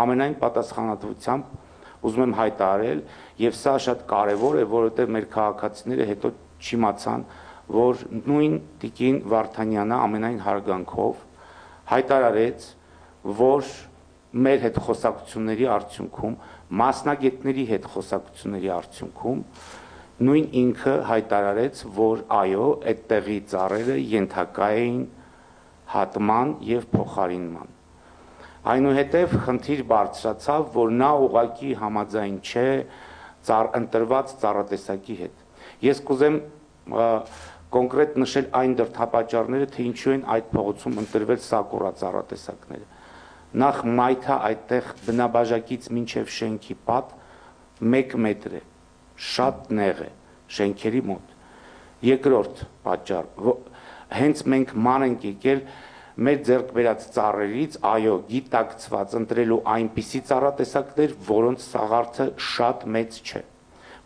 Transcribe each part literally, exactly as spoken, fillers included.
ամենայն պատասխանատվությամբ ուզում եմ հայտարարել, եւ սա շատ կարեւոր է, որովհետեւ մեր քաղաքացիները հետո չիմացան, որ նույն Տիկին Վարդանյանը ամենայն հարգանքով հայտարարեց, որ մեր հետ խոսակցությունների արդյունքում, մասնագետների հետ խոսակցությունների արդյունքում նույն ինքը հայտարարեց, որ այո, այդտեղի ծառերը ենթակա էին հատման եւ փոխարինման։ Այնուհետև խնդիր բարձրացավ, որ նա ուղղակի համաձայն չէ ծառ ընտրված ծառատեսակի հետ։ Ես կուզեմ կոնկրետ նշել այն դրդապատճառները, թե ինչու են այդ փողոցում ընտրվել սակուրա ծառատեսակները։ Նախ մայթա այդտեղ բնաբաժակից մինչև շենքի պատ մեկ մետր է, շատ նեղ է շենքերի մոտ։ Երկրորդ պատճառ, հենց մենք ման ենք եկել մեր ձեռք բերած ծառերից, այո, գիտակցված ընտրելու այնպիսի ծառատեսակներ, որոնց սաղարթը շատ մեծ չէ,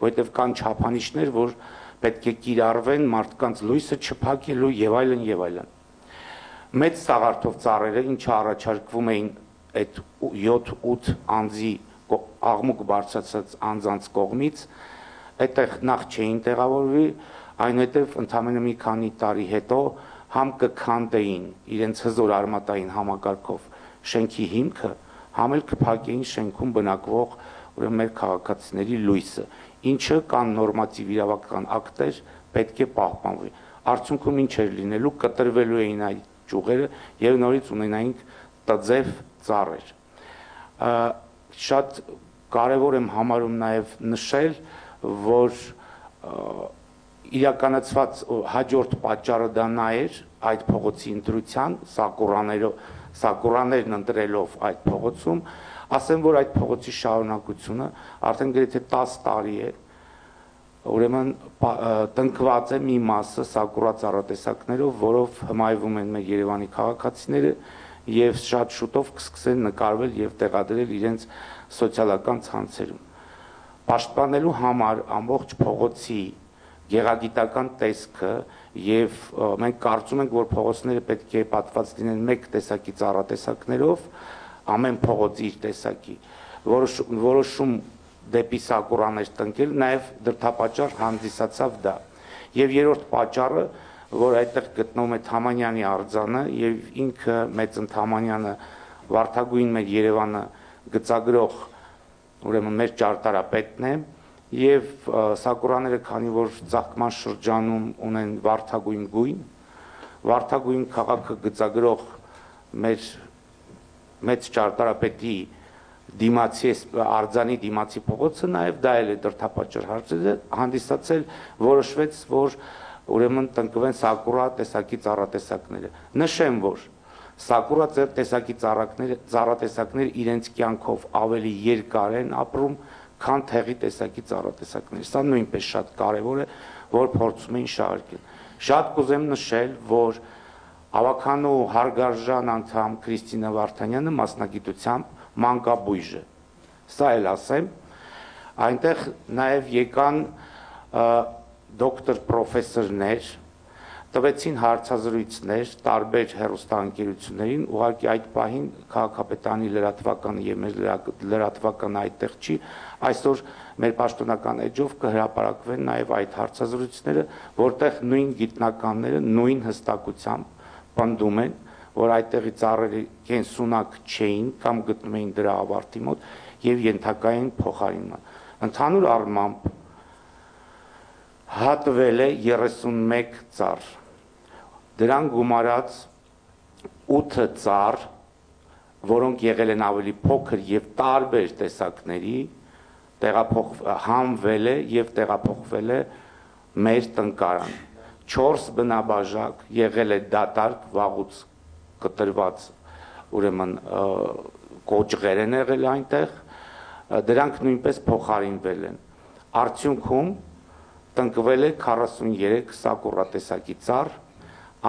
որովհետև կան չափանիշներ, որ պետք է կիրառվեն մարդկանց լույսը չփակելու եւ այլն եւ այլն։ Մեծ սաղարթով ծառերը, ինչը առաջարկվում էին այդ յոթ-ութ անձի աղմուկ բարձրացած անձանց կողմից, այդտեղ նախ չէին տեղավորվի, այնուհետև ընդամենը մի քանի տարի հետո համ կքանդեին իրենց հզոր արմատային համակարգով շենքի հիմքը, համ էլ կփակեին շենքում բնակվող ուրեմն մեր քաղաքացիների լույսը, ինչը կան նորմատիվ իրավական ակտեր, պետք է պահպանվի։ Արդյունքում ինչ էր լինելու, կտրվելու էին այդ ճյուղերը եւ նորից ունենայինք տձև ծառեր։ Շատ կարևոր եմ համարում նաեւ նշել, որ իրականացված հաջորդ պատճառը դա նա էր այդ փողոցի ընտրության սակուրաներով սակուրաներն ընտրելով այդ փողոցում, ասեմ, որ այդ փողոցի շարունակությունը արդեն գրեթե տասը տարի է, ուրեմն տնկված է մի մասը սակուրա ծառատեսակներով, որով հմայվում են մեր Երևանի քաղաքացիները եւ շատ շուտով կսկսեն նկարվել եւ տեղադրել իրենց սոցիալական ցանցերում։ Պաշտպանելու համար ամբողջ փողոցի գեղագիտական տեսքը եւ մենք կարծում ենք, որ փողոցները պետք է պատված լինեն մեկ տեսակի ծառատեսակներով, ամեն փողոց իր տեսակի, որոշում դեպի սակուրաներ տնկել, նաև դրդապատճառ հանդիսացավ դա։ Եվ երրորդ պատճառը, որ այդտեղ գտնվում է Թամանյանի արձանը եւ ինքը Մեծն Թամանյանը Վարդագույն մեր Երևանը գծագրող ուրեմն մեր ճարտարապետն է եւ սակուրաները, քանի որ ծաղկման շրջանում ունեն վարդագույն գույն, վարդագույն քաղաքը գծագրող մեր մեծ ճարտարապետի դիմացի արձանի դիմացի փողոցը նաև դա էլ է դրդապատճառ հանդիսացել, որոշվեց, որ ուրեմն տնկվեն սակուրա տեսակի ծառատեսակները։ Նշեմ, որ սակուրա տեսակի ծառատեսակները իրենց կյանքով ավելի երկար են ապրում, քան թեղի տեսակի ծառատեսակները։ Սա նույնպես շատ կարևոր է, որ փորձում էին շարունակել։ Շատ կուզեմ նշել, որ ավականու հարգարժան անդամ Քրիստինա Վարդանյանը մասնագիտությամբ մանկաբույժ է։ Սա էլ ասեմ, այնտեղ նաև եկան դոկտոր պրոֆեսորներ, տվեցին հարցազրույցներ տարբեր հեռուստաընկերություններին, ուղղակի այդ պահին քաղաքապետարանի լրատվականը եւ մեր լրատվականը այդտեղ չի, այսօր մեր պաշտոնական էջով կհրապարակվեն նաև այդ հարցազրույցները, որտեղ նույն գիտնականները նույն հստակությամբ պնդում են, որ այդտեղի ծառերը կենսունակ չէին կամ գտնում էին դրա ավարտի մոտ եւ ենթակա էին փոխարինման։ Ընդհանուր առմամբ հատվել է երեսունմեկ ծառ, դրան գումարած ութ ծառ, որոնք եղել են ավելի փոքր եւ տարբեր տեսակների, համվել է եւ տեղափոխվել է մեր տնկարան։ Չորս բնաբաժակ եղել է դատարկ վաղուց կտրված, ուրեմն կոճղեր են եղել այնտեղ, դրանք նույնպես փոխարինվել են։ Արդյունքում տնկվել է քառասուններեք սակուրա տեսակի ծառ,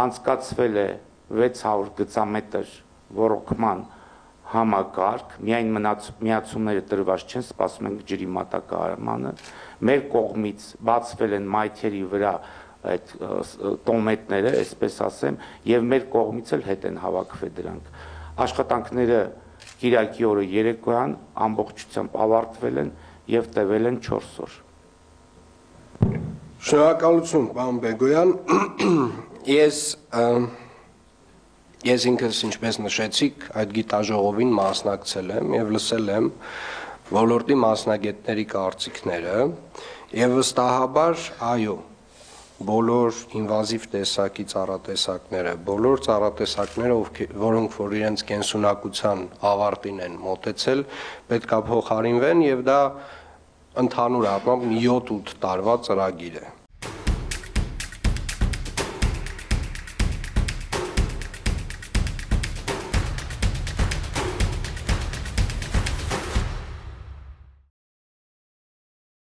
անցկացվել է վեց հարյուր գծամետր ոռոգման համակարգ, միայն միացումները տրված չեն, սպասում ենք ջրի մատակարարմանը, մեր կողմից բացվել են մայթերի վրա այդ տոմետները, այսպես ասեմ, եւ մեր կողմից էլ հետ են հավաքվել դրանք։ Աշխատանքները Կիրակի օրը երեկոյան ամբողջությամբ ավարտվել են եւ տևել են չորս օր։ Շնորհակալություն, պարոն Բեգոյան։ Ես ես ինքս ինչպես նշեցիք, այդ գիտաժողովին մասնակցել եմ եւ լսել եմ ոլորտի մասնագետների կարծիքները եւ վստահաբար, այո, բոլոր ինվազիվ տեսակի ծառատեսակները, բոլոր ծառատեսակները, որոնք որ իրենց կենսունակության ավարտին են մոտեցել, պետք է փոխարինվեն եւ դա ընդհանուր առմամբ յոթ ութ տարվա ծրագիր է։